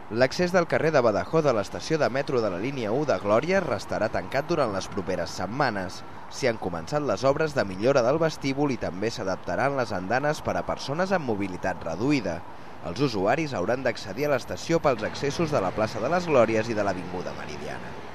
L'accés del carrer de Badajoz a l'estació de metro de la línia 1 de Glòria restarà tancat durant les properes setmanes. S'hi han començat les obres de millora del vestíbul i també s'adaptaran les andanes per a persones amb mobilitat reduïda. Els usuaris hauran d'accedir a l'estació pels accessos de la plaça de les Glòries i de l'Avinguda Meridiana.